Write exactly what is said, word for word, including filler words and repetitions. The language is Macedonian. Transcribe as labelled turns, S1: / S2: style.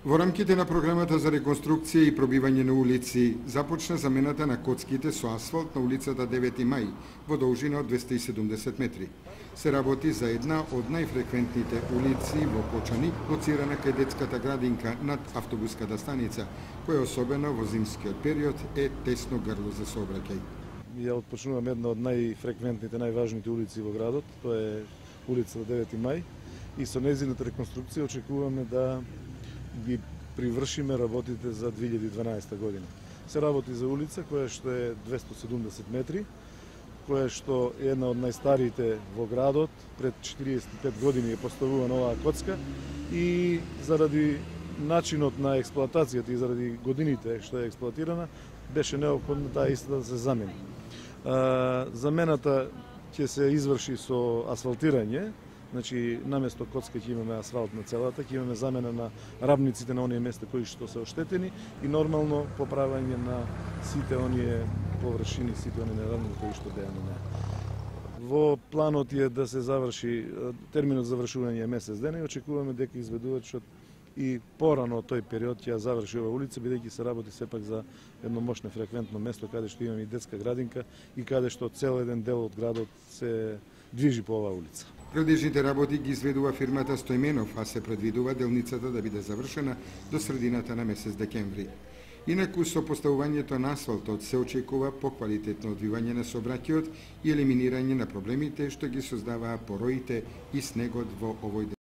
S1: Во рамките на програмата за реконструкција и пробивање на улици, започна замената на коцките со асфалт на улицата девети мај во должина од двесте и седумдесет метри. Се работи за една од најфреквентните улици во Почани, лоцирана кај детската градинка над автобуската станица, која особено во зимскиот период е тесно грло за сообраќај.
S2: Ја отпочнувам една од најфреквентните, најважните улици во градот, тоа е улицата девети мај, и со нејзината реконструкција очекуваме да ги привршиме работите за две илјади и дванаесета година. Се работи за улица која што е двесте и седумдесет метри, која што е една од најстариите во градот. Пред четириесет и пет години е поставувана оваа коцка и заради начинот на експлоатацијата и заради годините што е експлоатирана, беше неопходно таа иста да се замени. Замената ќе се изврши со асфалтирање. Значи, наместо коцка ќе имаме асфалт на целата, ќе имаме замена на рамниците на оние места кои што се оштетени и нормално поправање на сите оние површини, сите оние неравни кои што беа на неа. Во планот е да се заврши, терминот за завршување е месец дена и очекуваме дека изведувачот и порано тој период ќе ја заврши оваа улица, бидејќи се работи сепак за едно мощно фреквентно место каде што имаме и детска градинка и каде што цел еден дел од градот се движи по оваа улица.
S1: Градежните работи ги изведува фирмата Стојменов, а се предвидува делницата да биде завршена до средината на месец декември. Инаку со поставувањето на асфалтот се очекува поквалитетно одвивање на сообраќајот и елиминирање на проблемите што ги создаваа пороите и снегот во овој дел.